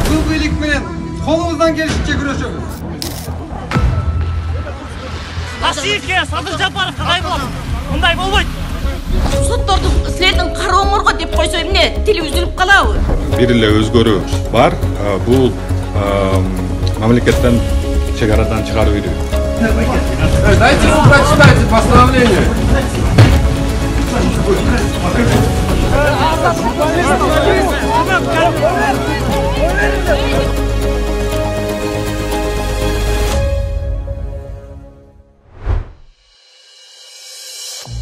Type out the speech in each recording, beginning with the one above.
Бул бийлик менен колубуздан келишинче күрөшөбүз. Ашиевке Садыр Жапаров кандай болот? Мындай болбойт. Сотторду силердин карооңорго деп койсо эмне тили үзүлүп калабы? Бир эле өзгөрүү бар. Бул мамлекеттен чек арадан чыгарып берүү. Дайте прочитайте постановление.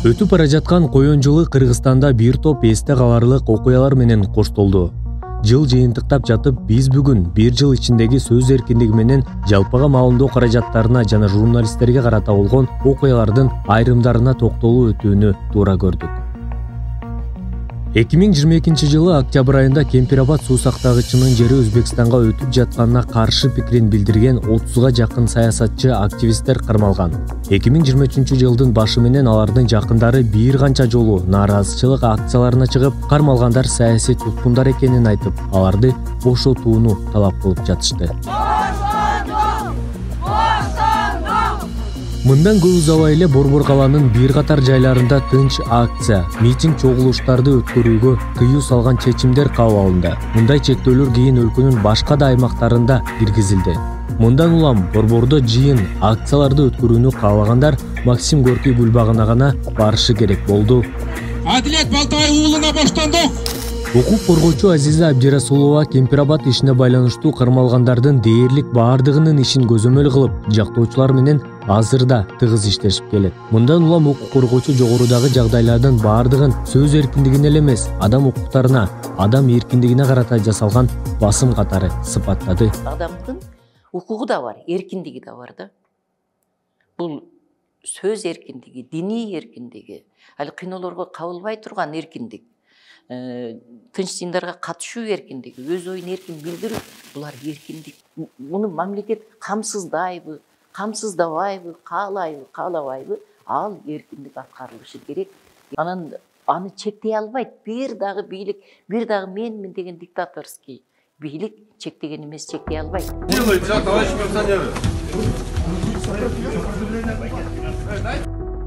Өтүп бара жаткан коён жылы Кыргызстанда бир топ эсте каларлык окуялар менен коштолду. Жыл жыйынтыктап жатып, биз бүгүн бир жыл ичиндеги сөз эркиндиги менен жалпыга маалымдоо каражаттарына жана журналисттерге карата болгон окуялардын айрымдарына токтолуу өтүүнү туура көрдүк. 2022 жылы октябрь айында Кемпирабад суу сактагычынын жери Өзбекстанга өтүп жатканына каршы пикирин билдирген 30га жакын саясатчы, активисттер кармалган. 2023 жылдын башы менен алардын жакындары бир канча жолу нааразычылык акцияларына чыгып, кармалгандар саясий туткундар экенин айтып, аларды бошотууну талап кылып жатышты. Мындан көп узабай эле Борбор калаанын бир катар жайларында тынч акция, митинг чогулуштарды өткөрүүгө тыюу салган чечимдер кабыл алынды. Мындай чектөөлөр кийин өлкөнүн башка да аймактарында киргизилди. Мындан улам Борбордо жыйын, акцияларды өткөрүүнү каалагандар Максим Горький бульбагына гана барышы керек болду. Адилет Балтабай уулуна боштондук. Укук коргоочу Азиза Абдирасулова Кемпирабад ишине байланыштуу кармалгандардын дээрлик баардыгынын ишин көзөмөл кылып, жактоочулар менен азырда тыгыз иштешип келет. Мындан улам укук коргоочу жогорудагы жагдайлардын баардыгын сөз эркиндигине эле эмес, адам укуктарына, адам эркиндигине карата жасалган басым катары сыпаттады. Адамдын укугу да бар, эркиндиги да бар да. Бул сөз эркиндиги, диний эркиндиги, ал кыйноолорго кабылбай турган эркиндик. Тынч жыйындарга катышуу эркиндиги, өз оюн эркин билдирүү, булар эркиндик. Муну мамлекет камсыздайбы, камсыздабайбы, каалайбы, каалабайбы, ал эркиндик аткарылышы керек. Анан аны чектей албайт. Бир дагы бийлик, бир дагы менмин деген диктаторский бийлик чектеген эмес, чектей албайт. Делайте, товарищ милиционеры.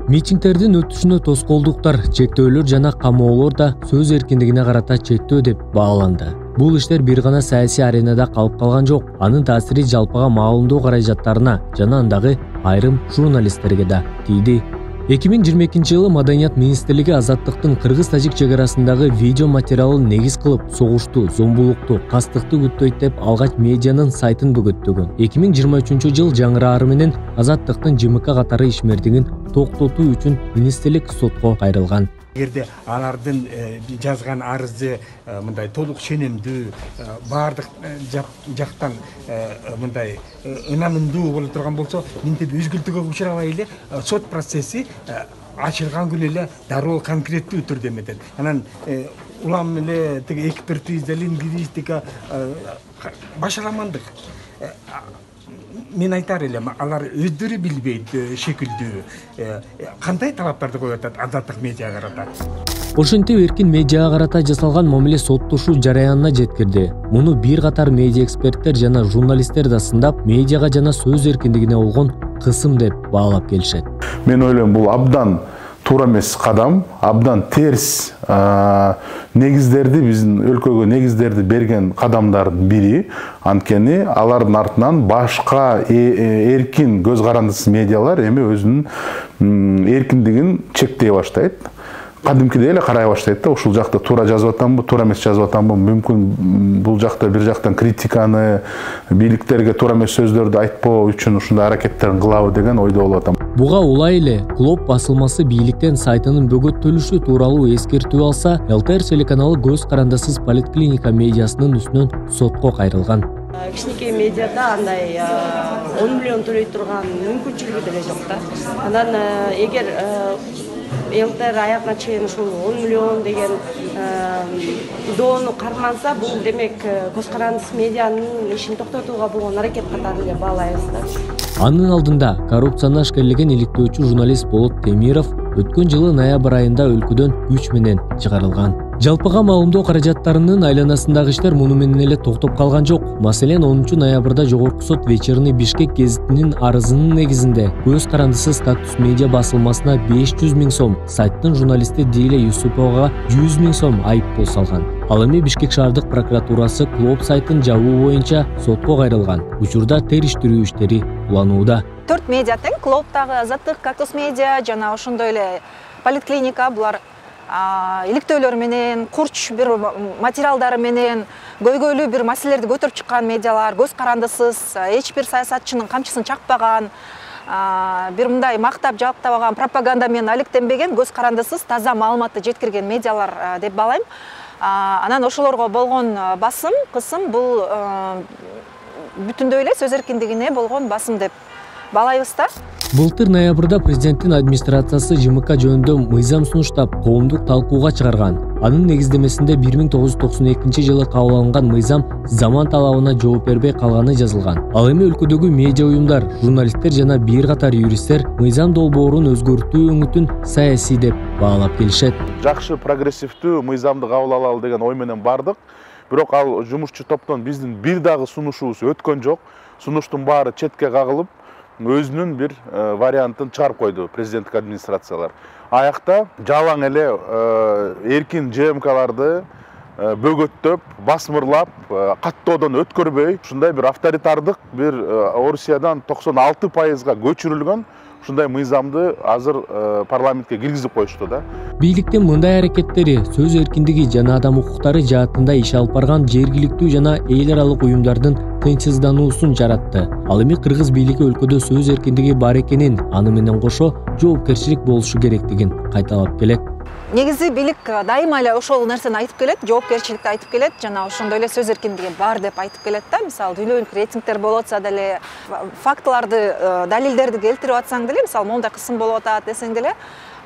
Митингтердин өтүшүнө тоскоолдуктар, чектөөлөр жана камоолор да сөз эркиндигине карата чектөө деп бааланды. Бул иштер бир гана саясий аренада калып калган жок. Анын таасири жалпыга маалымдоо каражаттарына жана андагы айрым журналисттерге да тийди. 2022 жылы Маданият министрлиги азаттыктын кыргыз-тажик чек арасындагы видео материалын негиз кылып, согушту, зомбулукту, кастыкты күттөйт деп алгач медианын сайтын бөгөттөгөн. 2023 жыл жаңыраары менен азаттыктын ЖМК катары ишмердигин токтотуу үчүн министрлик сотко кайрылган. Эгерде алардын жазган арызы мындай толук ченемдүү, баардык жактан мындай ынанымдуу боло турган болсо, минтип үзгүлтүүгө учурабай эле сот процесси ачылган күнү эле дароо конкреттүү түрдө эметет. Анан улам эле тиги экспертиза, лингвистика, башаламандык. Мен айтар элем, алар өздөрү билбейт шекилдүү кандай талаптарды коюп атат азаттык медиага карата. Ошентип эркин медиага карата жасалган мамиле соттошуу жараянына жеткирди. Муну бир катар медиа эксперттер жана журналисттер да сындап, медиага жана сөз эркиндигине болгон кысым деп баалап келишет. Мен ойлойм, бул абдан туура эмес кадам, абдан терс негиздерди, биздин өлкөгө негиздерди берген кадамдардын бири. Анткени алардын артынан башка эркин көз карандысыз медиалар эми өзүнүн эркиндигин чектей баштайт. Кадимкидей эле карай баштайт да, ушул жакта туура жазып атамбы, туура эмес жазып атамбы, мүмкүн бул жакта бир жактан критиканы, бийликтерге туура эмес сөздөрдү айтпоо үчүн ушундай аракеттерин кылабы деген ойдо болуп атам. Буга улай эле Глоб басылмасы бийликтен сайтынын бөгөттөлүшү тууралуу эскертүү алса, ЛТР телеканалы көз карандысыз поликлиника медиасынын үстүнөн сотко кайрылган. Кичинекей медиада андай 10 миллион төлөй турган мүмкүнчүлүгү деле жок да. Анан эгер ЛТР аягына чейин ушул 10 миллион деген доону карманса, бул демек көз карандысыз медианын ишин токтотууга болгон аракет катары эле баалайбыз да. Анын алдында коррупцияны ашкерлеген иликтөөчү журналист Болот Темиров өткөн жылы ноябрь айында өлкөдөн күч менен чыгарылган. Жалпыга маалымдоо каражаттарынын айланасындагы иштер муну менен эле токтоп калган жок. Маселен 10-ноябрда Жогорку сот Вечерний Бишкек гезитинин арызынын негизинде көз карандысы Статус медиа басылмасына 500 000 сом, сайттын журналисти Диля Юсуповага 100 000 сом айыппул салган. Ал эми Бишкек шаардык прокуратурасы Клоп сайтын жабуу боюнча сотко кайрылган. Учурда териштирүү иштери уланууда. 4 медиа тең, Клоптагы Азаттык, Кактус медиа жана ошондой эле Политклиника, булар иликтөөлөр менен, курч бир материалдары менен көйгөйлүү бир маселелерди көтөрүп чыккан медиалар, көз карандысыз, эч бир саясатчынын камчысын чакпаган, бир мындай мактап жаптабаган, пропаганда менен алектенбеген, көз карандысыз, таза маалыматты жеткирген медиалар деп баалайм. Анан ошолорго болгон басым, кысым бул бүтүндөй эле сөз эркиндигине болгон басым деп баалайбыз да. Былтыр ноябрда президенттин администрациясы ЖМК жөнүндө мыйзам сунуштап, коомдук талкууга чыгарган. Анын негиздемесинде 1992 жылы кабыл алынган мыйзам заман талабына жооп бербей калганы жазылган. Ал эми өлкөдөгү медиа уюмдар, журналисттер жана бир катар юристтер мыйзам долбоорун өзгөртүү өңүтүн саясий деп баалап келишет. Жакшы прогрессивдүү мыйзамды кабыл алалы деген ой менен бардык. Бирок ал жумушчу топтон биздин бир дагы сунушубуз өткөн жок. Сунуштун баары четке кагылып, өзүнүн бир вариантын чыгарып койду президенттик администрациялар. Аякта жалаң эле эркин ЖМКларды бөгөттөп, басмырлап, каттоодон өткөрбөй, ушундай бир авторитардык бир Орусиядан 96%га көчүрүлгөн ушундай мыйзамды азыр парламентке киргизип коюшту да. Бийликтин мындай аракеттери сөз эркиндиги жана адам укуктары жаатында иш алып барган жергиликтүү жана эл аралык уюмдардын тынчсыздануусун жаратты. Ал эми кыргыз бийлиги өлкөдө сөз эркиндиги бар экенин, аны менен кошо жоопкерчилик болушу керектигин кайталап келет. Негизи бийлик дайыма эле ошол нерсени айтып келет, жоопкерчиликти айтып келет, жана ошондой эле сөз эркиндиги бар деп айтып келет да. Мисалы, дүйнөлүк рейтингдер болуп атса деле, фактыларды, далилдерди келтирип атсаң деле, мисалы, мондай кысым болуп атат десең деле,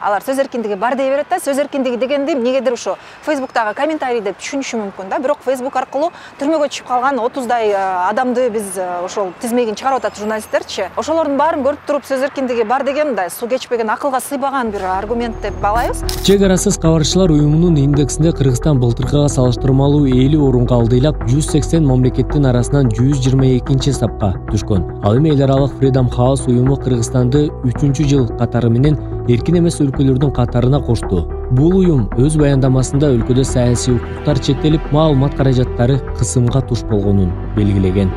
алар сөз эркиндиги бар дей берет да. Сөз эркиндиги дегенди эмнегедир ошо Facebook'тагы комментарий деп түшүнүшү мүмкүн да. Бирок Facebook аркылуу түрмөгө түшүп калган 30дай адамды биз ошол тизмегин чыгарып атат журналисттерчи. Ошолордун баарын көрүп туруп сөз эркиндиги бар деген мындай суу кечпеген, акылга сыйбаган бир аргумент деп баалайбыз. Чек арасыз кабарчылар уюмунун индексинде Кыргызстан былтыркыга салыштырмалуу 50 орунга алдыйлап, 180 мамлекеттин арасынан 122 сапка түшкөн. Ал эми эл аралык Freedom House уюму Кыргызстанды 3-жыл катары менен эркин эмес өлкөлөрдүн катарына кошту. Бул уюм өз баяндамасында өлкөдө саясий укуктар чектелип, маалымат каражаттары кысымга туш болгонун белгилеген.